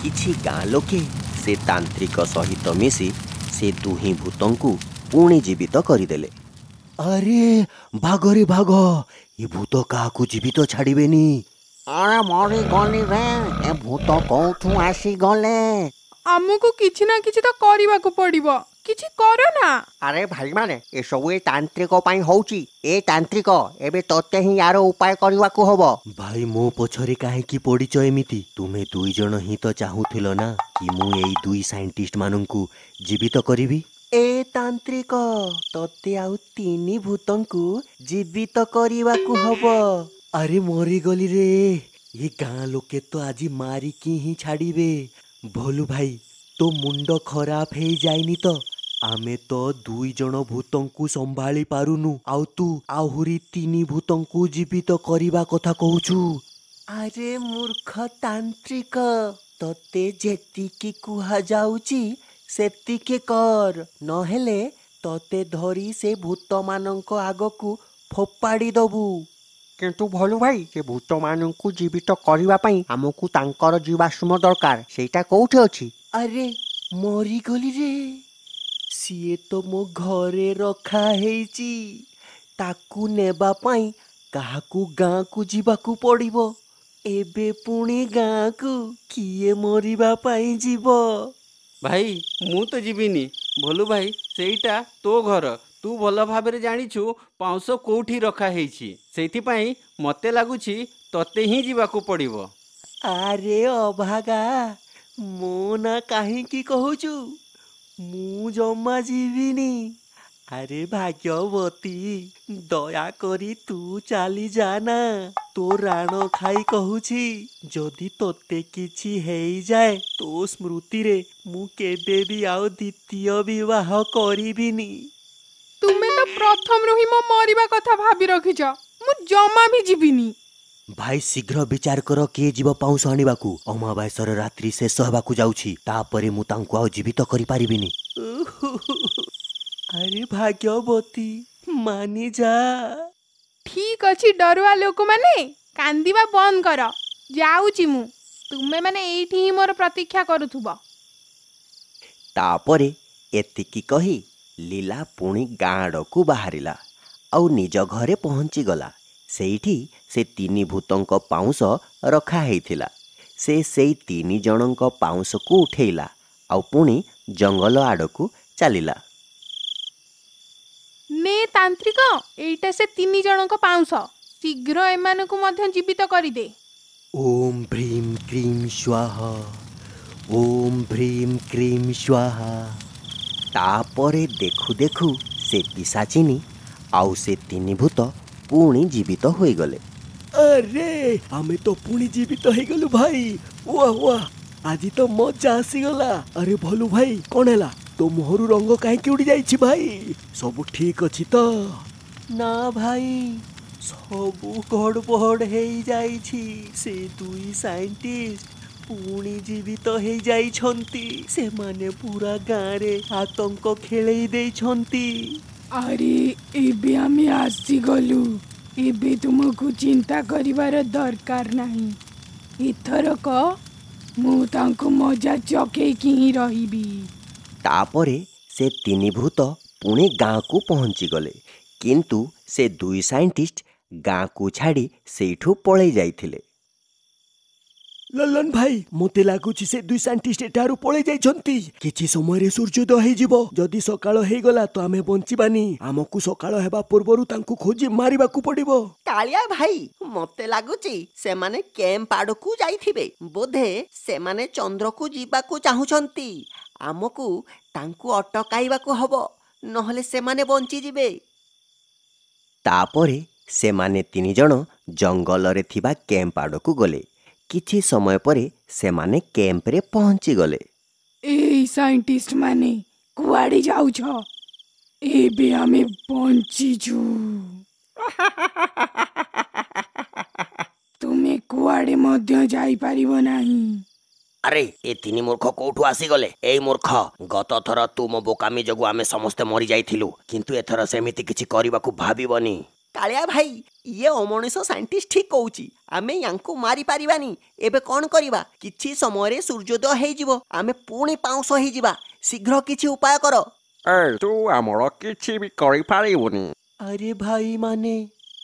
କିଛି ଗାଁ ଲୋକେ ସେ ତାନ୍ତ୍ରିକ ସହିତ ମିଶି ସେ ଦୁହିଁ ଭୂତଙ୍କୁ ପୁଣି ଜୀବିତ କରିଦେଲେ। ଆରେ ବାଘରେ ବାଘ, ଏ ଭୂତ କାହାକୁ ଜୀବିତ ଛାଡ଼ିବେନି। ଆରେ ମରିଗଲି ରେ, ଏ ଭୂତ କୋଉଠୁ ଆସିଗଲେ? ଆମକୁ କିଛି ନା କିଛି ତ କରିବାକୁ ପଡିବ, କିଛି କର ନା। ଆରେ ଭାଇମାନେ, ଏସବୁ ଏ ତାନ୍ତ୍ରିକ ପାଇଁ ହଉଛି। ଏ ତାନ୍ତ୍ରିକ, ଏବେ ତତେ ହିଁ ୟାର ଉପାୟ କରିବାକୁ ହବ। ଭାଇ, ମୋ ପଛରେ କାହିଁକି ପଡ଼ିଛ ଏମିତି? ତୁମେ ଦୁଇ ଜଣ ହିଁ ତ ଚାହୁଁଥିଲ ନା କି ମୁଁ ଏଇ ଦୁଇ ସାଇଣ୍ଟିଷ୍ଟ ମାନଙ୍କୁ ଜୀବିତ କରିବି। ଏ ତାନ୍ତ୍ରିକ, ତତେ ଆଉ ତିନି ଭୂତଙ୍କୁ ଜୀବିତ କରିବାକୁ ହବ। ଆରେ ମରିଗଲି ରେ, ଏ ଗାଁ ଲୋକେ ତ ଆଜି ମାରିକି ହିଁ ଛାଡ଼ିବେ। ଭୋଲୁ ଭାଇ, ତୋ ମୁଣ୍ଡ ଖରାପ ହେଇଯାଇନି ତ? ଆମେ ତ ଦୁଇ ଜଣ ଭୂତଙ୍କୁ ସମ୍ଭାଳି ପାରୁନୁ, ଆଉ ତୁ ଆହୁରି ତିନି ଭୂତଙ୍କୁ ଜୀବିତ କରିବା କଥା କହୁଛୁ। ଆରେ ମୂର୍ଖ ତାନ୍ତ୍ରିକ, ତତେ ଯେତିକି କୁହାଯାଉଛି ସେତିକି କର, ନହେଲେ ତତେ ଧରି ସେ ଭୂତମାନଙ୍କ ଆଗକୁ ଫୋପାଡ଼ି ଦବୁ। କିନ୍ତୁ ଭୋଲୁ ଭାଇ, ସେ ଭୂତମାନଙ୍କୁ ଜୀବିତ କରିବା ପାଇଁ ଆମକୁ ତାଙ୍କର ଜୀବାଶ୍ମ ଦରକାର, ସେଇଟା କୋଉଠି ଅଛି? ଆରେ ମରିଗଲି ରେ, ସିଏ ତ ମୋ ଘରେ ରଖା ହେଇଛି। ତାକୁ ନେବା ପାଇଁ କାହାକୁ ଗାଁକୁ ଯିବାକୁ ପଡ଼ିବ। ଏବେ ପୁଣି ଗାଁକୁ କିଏ ମରିବା ପାଇଁ ଯିବ? ଭାଇ, ମୁଁ ତ ଯିବିନି। ଭୋଲୁ ଭାଇ, ସେଇଟା ତୋ ଘର, ତୁ ଭଲ ଭାବରେ ଜାଣିଛୁ ପାଉଁଶ କୋଉଠି ରଖା ହେଇଛି। ସେଇଥିପାଇଁ ମୋତେ ଲାଗୁଛି ତତେ ହିଁ ଯିବାକୁ ପଡ଼ିବ। ଆରେ ଅଭାଗା, ମୋ ନା କାହିଁକି କହୁଛୁ? ମୁଁ ଜମା ଯିବିନି। ଆରେ ଭାଗ୍ୟବତୀ, ଦୟାକରି ତୁ ଚାଲି ଯା ନା, ତୋ ରାଣ ଖାଇ କହୁଛି, ଯଦି ତୋତେ କିଛି ହେଇଯାଏ ତୋ ସ୍ମୃତିରେ ମୁଁ କେବେ ବି ଆଉ ଦ୍ୱିତୀୟ ବିବାହ କରିବିନି। ତୁମେ ତ ପ୍ରଥମରୁ ହିଁ ମୋ ମରିବା କଥା ଭାବି ରଖିଛ, ମୁଁ ଜମା ବି ଯିବିନି। ଭାଇ, ଶୀଘ୍ର ବିଚାର କର କିଏ ଯିବ ପାଉଁଶ ଆଣିବାକୁ। ଅମାବାସ୍ୟାର ରାତ୍ରି ଶେଷ ହେବାକୁ ଯାଉଛି, ତାପରେ ମୁଁ ତାଙ୍କୁ ଆଉ ଜୀବିତ କରିପାରିବିନି। ଆରେ ଭାଗ୍ୟବତୀ, ମାନି ଯା। ଠିକ ଅଛି ଡରୁଆ ଲୋକମାନେ, କାନ୍ଦିବା ବନ୍ଦ କର। ଯାଉଛି ମୁଁ, ତୁମେମାନେ ଏଇଠି ହିଁ ମୋର ପ୍ରତୀକ୍ଷା କରୁଥିବ। ତାପରେ ଏତିକି କହି ଲୀଲା ପୁଣି ଗାଁ ଆଡ଼କୁ ବାହାରିଲା ଆଉ ନିଜ ଘରେ ପହଞ୍ଚିଗଲା। ସେଇଠି ସେ ତିନି ଭୂତଙ୍କ ପାଉଁଶ ରଖା ହେଇଥିଲା। ସେ ସେଇ ତିନି ଜଣଙ୍କ ପାଉଁଶକୁ ଉଠେଇଲା ଆଉ ପୁଣି ଜଙ୍ଗଲ ଆଡ଼କୁ ଚାଲିଲା। ନେ ତାନ୍ତ୍ରିକ, ଏଇଟା ସେ ତିନି ଜଣଙ୍କ ପାଉଁଶ, ଶୀଘ୍ର ଏମାନଙ୍କୁ ମଧ୍ୟ ଜୀବିତ କରିଦେ। ଓମ୍ ଭ୍ରୀಂ କ୍ରୀಂ ସ୍ୱାହା, ଓମ୍ ଭ୍ରୀಂ କ୍ରୀಂ ସ୍ୱାହା। ତାପରେ ଦେଖୁ ଦେଖୁ ସେ ପିଶାଚିନୀ ଆଉ ସେ ତିନି ଭୂତ ପୁଣି ଜୀବିତ ହୋଇଗଲେ। ଆରେ ଆମେ ତ ପୁଣି ଜୀବିତ ହେଇଗଲୁ ଭାଇ, ୱାହ ୱାହ, ଆଜି ତ ମଜା ଆସିଗଲା। ଆରେ ଭଲୁ ଭାଇ, କଣ ହେଲା? ତୋ ମୁହଁରୁ ରଙ୍ଗ କାହିଁକି ଉଡ଼ି ଯାଇଛି ଭାଇ? ସବୁ ଠିକ ଅଛି ତ? ନା ଭାଇ, ସବୁ ଗଡ଼ବଡ଼ ହେଇଯାଇଛି। ସେ ଦୁଇ ସାଇଣ୍ଟିଷ୍ଟ ପୁଣି ଜୀବିତ ହେଇଯାଇଛନ୍ତି। ସେମାନେ ପୁରା ଗାଁରେ ଆତଙ୍କ ଖେଳେଇ ଦେଇଛନ୍ତି। ଆରେ ଏବେ ଆମେ ଆସିଗଲୁ, ଏବେ ତୁମକୁ ଚିନ୍ତା କରିବାର ଦରକାର ନାହିଁ। ଏଥରକ ମୁଁ ତାଙ୍କୁ ମଜା ଚକେଇକି ହିଁ ରହିବି। ତାପରେ ସେ ତିନି ଭୂତ ପୁଣି ଗାଁକୁ ପହଞ୍ଚିଗଲେ, କିନ୍ତୁ ସେ ଦୁଇ ସାଇଣ୍ଟିଷ୍ଟ ଗାଁକୁ ଛାଡ଼ି ସେଇଠୁ ପଳେଇ ଯାଇଥିଲେ। ଲଲନ ଭାଇ, ମୋତେ ଲାଗୁଛି ସେ ଦୁଇ ସାଇଣ୍ଟିଷ୍ଟ ଏଠାରୁ ପଳେଇ ଯାଇଛନ୍ତି। କିଛି ସମୟରେ ସୂର୍ଯ୍ୟୋଦୟ ହେଇଯିବ। ଯଦି ସକାଳ ହେଇଗଲା ତ ଆମେ ବଞ୍ଚିବାନି। ଆମକୁ ସକାଳ ହେବା ପୂର୍ବରୁ ତାଙ୍କୁ ଖୋଜି ମାରିବାକୁ ପଡ଼ିବ। କାଳିଆ ଭାଇ, ମୋତେ ଲାଗୁଛି ସେମାନେ କ୍ୟାମ୍ପ ଆଡ଼କୁ ଯାଇଥିବେ। ବୋଧେ ସେମାନେ ଚନ୍ଦ୍ରକୁ ଯିବାକୁ ଚାହୁଁଛନ୍ତି। ଆମକୁ ତାଙ୍କୁ ଅଟକାଇବାକୁ ହବ, ନହେଲେ ସେମାନେ ବଞ୍ଚିଯିବେ। ତାପରେ ସେମାନେ ତିନି ଜଣ ଜଙ୍ଗଲରେ ଥିବା କ୍ୟାମ୍ପ ଆଡ଼କୁ ଗଲେ। କିଛି ସମୟ ପରେ ସେମାନେ କ୍ୟାମ୍ପରେ ପହଞ୍ଚିଗଲେ। ଏଇ ସାଇଣ୍ଟିଷ୍ଟ ମାନେ, କୁଆଡ଼େ ଯାଉଛ? ଏବେ ଆମେ ବଞ୍ଚିଛୁ, ତୁମେ କୁଆଡ଼େ ମଧ୍ୟ ଯାଇପାରିବ ନାହିଁ। ଆରେ ଏ ତିନି ମୂର୍ଖ କୋଉଠୁ ଆସିଗଲେ? ଏଇ ମୂର୍ଖ, ଗତ ଥର ତୁମ ବୋକାମି ଯୋଗୁଁ ଆମେ ସମସ୍ତେ ମରିଯାଇଥିଲୁ, କିନ୍ତୁ ଏଥର ସେମିତି କିଛି କରିବାକୁ ଭାବିବନି। କାଳିଆ ଭାଇ, ଇଏ ଅମଣିଷ ସାଇଣ୍ଟିଷ୍ଟ ଠିକ୍ କହୁଛି, ଆମେ ୟାଙ୍କୁ ମାରିପାରିବାନି। ଏବେ କ'ଣ କରିବା? କିଛି ସମୟରେ ସୂର୍ଯ୍ୟୋଦୟ ହେଇଯିବ, ଆମେ ପୁଣି ପାଉଁଶ ହେଇଯିବା। ଶୀଘ୍ର କିଛି ଉପାୟ କର। ଏ, ତୁ ଆମର କିଛି ବି କରିପାରିବୁନି। ଆରେ ଭାଇମାନେ,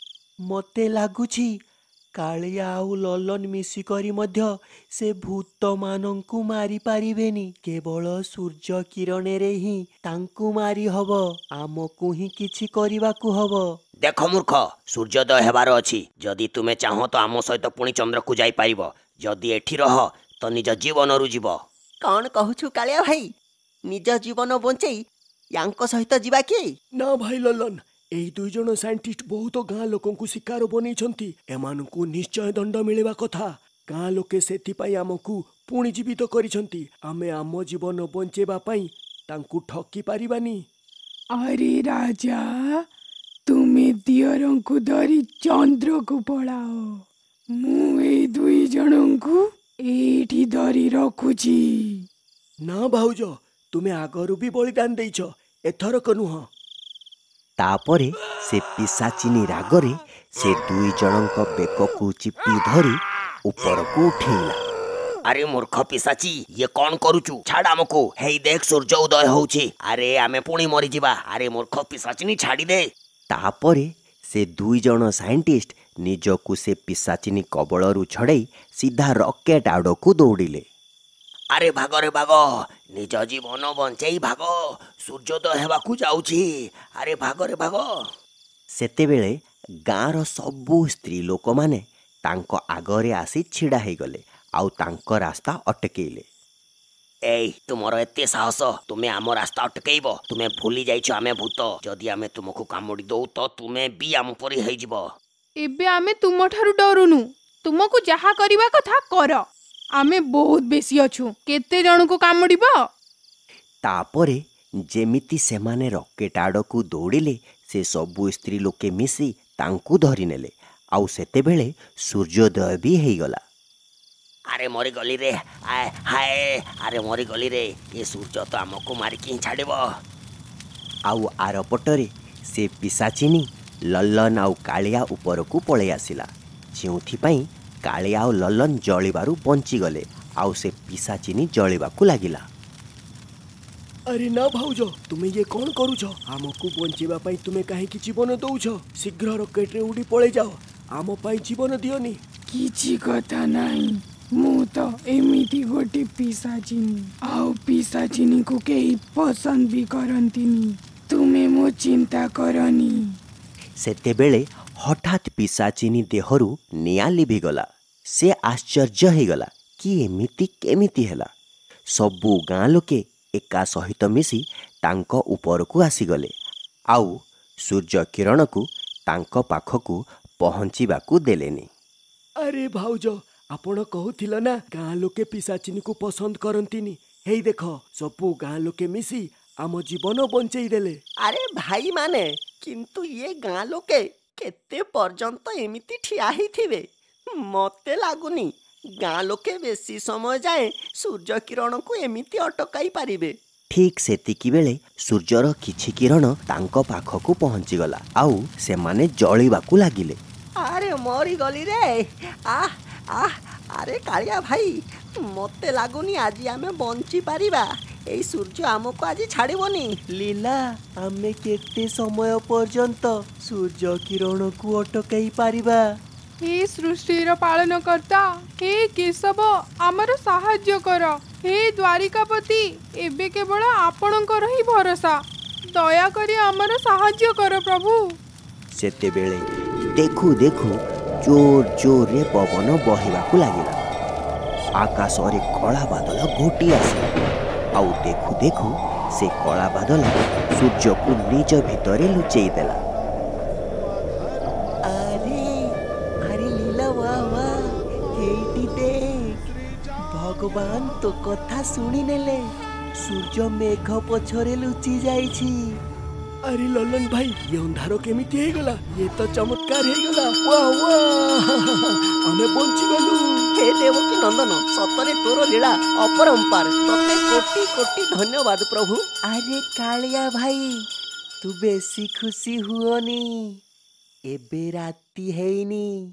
ମତେ ଲାଗୁଛି କାଳିଆ ଆଉ ଲଲନ ମିଶିକରି ମଧ୍ୟ ସେ ଭୂତମାନଙ୍କୁ ମାରିପାରିବେନି। କେବଳ ସୂର୍ଯ୍ୟ କିରଣରେ ହିଁ ତାଙ୍କୁ ମାରି ହବ। ଆମକୁ ହିଁ କିଛି କରିବାକୁ ହବ। ଦେଖ ମୂର୍ଖ, ସୂର୍ଯ୍ୟୋଦୟ ହେବାର ଅଛି। ଯଦି ତୁମେ ଚାହଁ ତ ଆମ ସହିତ ପୁଣି ଚନ୍ଦ୍ରକୁ ଯାଇପାରିବ। ଯଦି ଏଠି ରହ ତ ନିଜ ଜୀବନରୁ ଯିବ। କ'ଣ କହୁଛୁ କାଳିଆ ଭାଇ, ନିଜ ଜୀବନ ବଞ୍ଚେଇ ୟାଙ୍କ ସହିତ ଯିବା କି? ନା ଭାଇ ଲଲନ, ଏଇ ଦୁଇ ଜଣ ସାଇଣ୍ଟିଷ୍ଟ ବହୁତ ଗାଁ ଲୋକଙ୍କୁ ଶିକାର ବନେଇଛନ୍ତି। ଏମାନଙ୍କୁ ନିଶ୍ଚୟ ଦଣ୍ଡ ମିଳିବା କଥା। ଗାଁ ଲୋକେ ସେଥିପାଇଁ ଆମକୁ ପୁଣି ଜୀବିତ କରିଛନ୍ତି। ଆମେ ଆମ ଜୀବନ ବଞ୍ଚେଇବା ପାଇଁ ତାଙ୍କୁ ଠକି ପାରିବାନି। ଆରେ ରାଜା, ତୁମେ ଦିଅରଙ୍କୁ ଧରି ଚନ୍ଦ୍ରକୁ ପଳାଅ, ମୁଁ ଏଇ ଦୁଇ ଜଣଙ୍କୁ ଏଇଠି ଧରି ରଖୁଛି। ନା ଭାଉଜ, ତୁମେ ଆଗରୁ ବି ବଳିଦାନ ଦେଇଛ, ଏଥରକ ନୁହଁ। ତାପରେ ସେ ପିଶାଚିନୀ ରାଗରେ ସେ ଦୁଇ ଜଣଙ୍କ ବେକକୁ ଚିପି ଧରି ଉପରକୁ ଉଠେଇଲା। ଆରେ ମୂର୍ଖ ପିଶାଚୀ, ଇଏ କ'ଣ କରୁଛୁ? ଛାଡ଼ ଆମକୁ। ହେଇ ଦେଖ, ସୂର୍ଯ୍ୟ ଉଦୟ ହଉଛି। ଆରେ ଆମେ ପୁଣି ମରିଯିବା। ଆରେ ମୂର୍ଖ ପିଶାଚିନୀ, ଛାଡ଼ି ଦେ। ତାପରେ ସେ ଦୁଇ ଜଣ ସାଇଣ୍ଟିଷ୍ଟ ନିଜକୁ ସେ ପିଶାଚିନୀ କବଳରୁ ଛଡ଼େଇ ସିଧା ରକେଟ ଆଡ଼କୁ ଦୌଡ଼ିଲେ। ଆରେ ଭାଗରେ ଭାଗ, ନିଜ ଜୀବନ ବଞ୍ଚେଇ ଭାଗ, ସୂର୍ଯ୍ୟୋଦୟ ହେବାକୁ ଯାଉଛି। ଆରେ ଭାଗରେ ଭାଗ। ସେତେବେଳେ ଗାଁର ସବୁ ସ୍ତ୍ରୀ ଲୋକମାନେ ତାଙ୍କ ଆଗରେ ଆସି ଛିଡ଼ା ହେଇଗଲେ ଆଉ ତାଙ୍କ ରାସ୍ତା ଅଟକେଇଲେ। ଏଇ, ତୁମର ଏତେ ସାହସ, ତୁମେ ଆମ ରାସ୍ତା ଅଟକେଇବ? ତୁମେ ଭୁଲି ଯାଇଛ ଆମେ ଭୂତ। ଯଦି ଆମେ ତୁମକୁ କାମୁଡ଼ି ଦଉ ତ ତୁମେ ବି ଆମ ପରି ହେଇଯିବ। ଏବେ ଆମେ ତୁମଠାରୁ ଡରୁନୁ। ତୁମକୁ ଯାହା କରିବା କଥା କର। ଆମେ ବହୁତ ବେଶୀ ଅଛୁ, କେତେ ଜଣଙ୍କୁ କାମୁଡ଼ିବ? ତାପରେ ଯେମିତି ସେମାନେ ରକେଟ ଆଡ଼କୁ ଦୌଡ଼ିଲେ, ସେ ସବୁ ସ୍ତ୍ରୀ ଲୋକେ ମିଶି ତାଙ୍କୁ ଧରିନେଲେ ଆଉ ସେତେବେଳେ ସୂର୍ଯ୍ୟୋଦୟ ବି ହେଇଗଲା। ଆରେ ମରିଗଲି ରେ, ଆଏ ହାଏ, ଆରେ ମରିଗଲି ରେ, ଏ ସୂର୍ଯ୍ୟ ତ ଆମକୁ ମାରିକି ହିଁ ଛାଡ଼ିବ। ଆଉ ଆରପଟରେ ସେ ପିଶାଚିନୀ ଲଲନ ଆଉ କାଳିଆ ଉପରକୁ ପଳେଇ ଆସିଲା, ଯେଉଁଥିପାଇଁ କାଳିଆ ଆଉ ଲଲନ ଜଳିବାରୁ ବଞ୍ଚିଗଲେ ଆଉ ସେ ପିଶାଚିନୀ ଜଳିବାକୁ ଲାଗିଲା। ଆରେ ନା ଭାଉଜ, ତୁମେ ଇଏ କ'ଣ କରୁଛ? ଆମକୁ ବଞ୍ଚେଇବା ପାଇଁ ତୁମେ କାହିଁକି ଜୀବନ ଦଉଛ? ଶୀଘ୍ର ରକେଟରେ ଉଡ଼ି ପଳେଇ ଯାଅ, ଆମ ପାଇଁ ଜୀବନ ଦିଅନି। କିଛି କଥା ନାହିଁ, ମୁଁ ତ ଏମିତି ଗୋଟେ ପିଶାଚିନୀ, ଆଉ ପିଶାଚିନୀକୁ କେହି ପସନ୍ଦ ବି କରନ୍ତିନି। ତୁମେ ମୋ ଚିନ୍ତା କରନି। ସେତେବେଳେ ହଠାତ୍ ପିଶାଚିନୀ ଦେହରୁ ନିଆଁ ଲିଭିଗଲା। ସେ ଆଶ୍ଚର୍ଯ୍ୟ ହେଇଗଲା କି ଏମିତି କେମିତି ହେଲା। ସବୁ ଗାଁ ଲୋକେ ଏକା ସହିତ ମିଶି ତାଙ୍କ ଉପରକୁ ଆସିଗଲେ ଆଉ ସୂର୍ଯ୍ୟ କିରଣକୁ ତାଙ୍କ ପାଖକୁ ପହଞ୍ଚିବାକୁ ଦେଲେନି। ଆରେ ଭାଉଜ, ଆପଣ କହୁଥିଲ ନା ଗାଁ ଲୋକେ ପିଶାଚିନୀକୁ ପସନ୍ଦ କରନ୍ତିନି। ହେଇ ଦେଖ, ସବୁ ଗାଁ ଲୋକେ ମିଶି ଆମ ଜୀବନ ବଞ୍ଚେଇ ଦେଲେ। ଆରେ ଭାଇମାନେ, କିନ୍ତୁ ଇଏ ଗାଁ ଲୋକେ କେତେ ପର୍ଯ୍ୟନ୍ତ ଏମିତି ଠିଆ ହେଇଥିବେ? ମତେ ଲାଗୁନି ଗାଁ ଲୋକେ ବେଶୀ ସମୟ ଯାଏଁ ସୂର୍ଯ୍ୟ କିରଣକୁ ଏମିତି ଅଟକାଇ ପାରିବେ। ଠିକ୍ ସେତିକି ବେଳେ ସୂର୍ଯ୍ୟର କିଛି କିରଣ ତାଙ୍କ ପାଖକୁ ପହଞ୍ଚିଗଲା ଆଉ ସେମାନେ ଜଳିବାକୁ ଲାଗିଲେ। ଆରେ ମରିଗଲି ରେ, ଆহ ଆହ। ଆରେ କାଳିଆ ଭାଇ, ମତେ ଲାଗୁନି ଆଜି ଆମେ ବଞ୍ଚି ପାରିବା। ଏଇ ସୂର୍ଯ୍ୟ ଆମକୁ ଆଜି ଛାଡ଼ିବନି। ଲୀଲା, ଆମେ କେତେ ସମୟ ପର୍ଯ୍ୟନ୍ତ ସୂର୍ଯ୍ୟ କିରଣକୁ ଅଟକାଇ ପାରିବା? ହେ ସୃଷ୍ଟିର ପାଳନକର୍ତ୍ତା, ହେ କେଶବ, ଆମର ସାହାଯ୍ୟ କର। ହେ ଦ୍ୱାରିକାପତି, ଏବେ କେବଳ ଆପଣଙ୍କର ହିଁ ଭରସା। ଦୟାକରି ଆମର ସାହାଯ୍ୟ କର ପ୍ରଭୁ। ସେତେବେଳେ ଦେଖୁ ଦେଖୁ ଜୋର ଜୋରରେ ପବନ ବହିବାକୁ ଲାଗିଲା। ଆକାଶରେ କଳା ବାଦଲ ଘୋଟି ଆସିଲା ଆଉ ଦେଖୁ ଦେଖୁ ସେ କଳା ବାଦଲ ସୂର୍ଯ୍ୟକୁ ନିଜ ଭିତରେ ଲୁଚେଇ ଦେଲା। ଆରେ ଆରେ ଲୀଲା, ବା ବା, ଏଇଠି ଦେଖ, ଭଗବାନ ତୋ କଥା ଶୁଣିନେଲେ। ସୂର୍ଯ୍ୟ ମେଘ ପଛରେ ଲୁଚି ଯାଇଛି। ଆରେ ଲଲନ ଭାଇ, ଇଏ ଅନ୍ଧାର କେମିତି ହେଇଗଲା? ଇଏ ତ ଚମତ୍କାର ହେଇଗଲା। ୱା ୱା, ଆମେ ବଞ୍ଚିଗଲୁ। ହେ ଦେବକୀ ନନ୍ଦନ, ସତରେ ତୋର ଲୀଳା ଅପରମ୍ପାର। ତତେ କୋଟି କୋଟି ଧନ୍ୟବାଦ ପ୍ରଭୁ। ଆରେ କାଳିଆ ଭାଇ, ତୁ ବେଶୀ ଖୁସି ହୁଅନି। ଏବେ ରାତି ହେଇନି।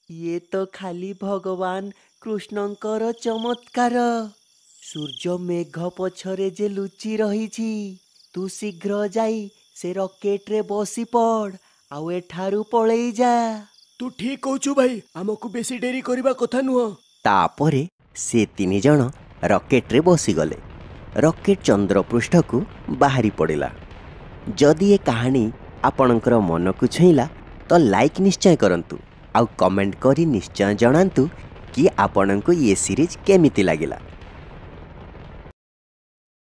ଇଏ ତ ଖାଲି ଭଗବାନ କୃଷ୍ଣଙ୍କର ଚମତ୍କାର। ସୂର୍ଯ୍ୟ ମେଘ ପଛରେ ଯେ ଲୁଚି ରହିଛି। ତୁ ଶୀଘ୍ର ଯାଇ ସେ ରକେଟରେ ବସି ପଡ଼ ଆଉ ଏଠାରୁ ପଳେଇ ଯା। ତୁ ଠିକ କହୁଛୁ ଭାଇ, ଆମକୁ ବେଶୀ ଡେରି କରିବା କଥା ନୁହଁ। ତାପରେ ସେ ତିନି ଜଣ ରକେଟରେ ବସିଗଲେ। ରକେଟ ଚନ୍ଦ୍ରପୃଷ୍ଠକୁ ବାହାରି ପଡ଼ିଲା। ଯଦି ଏ କାହାଣୀ ଆପଣଙ୍କର ମନକୁ ଛୁଇଁଲା ତ ଲାଇକ୍ ନିଶ୍ଚୟ କରନ୍ତୁ ଆଉ କମେଣ୍ଟ କରି ନିଶ୍ଚୟ ଜଣାନ୍ତୁ କି ଆପଣଙ୍କୁ ଇଏ ସିରିଜ୍ କେମିତି ଲାଗିଲା।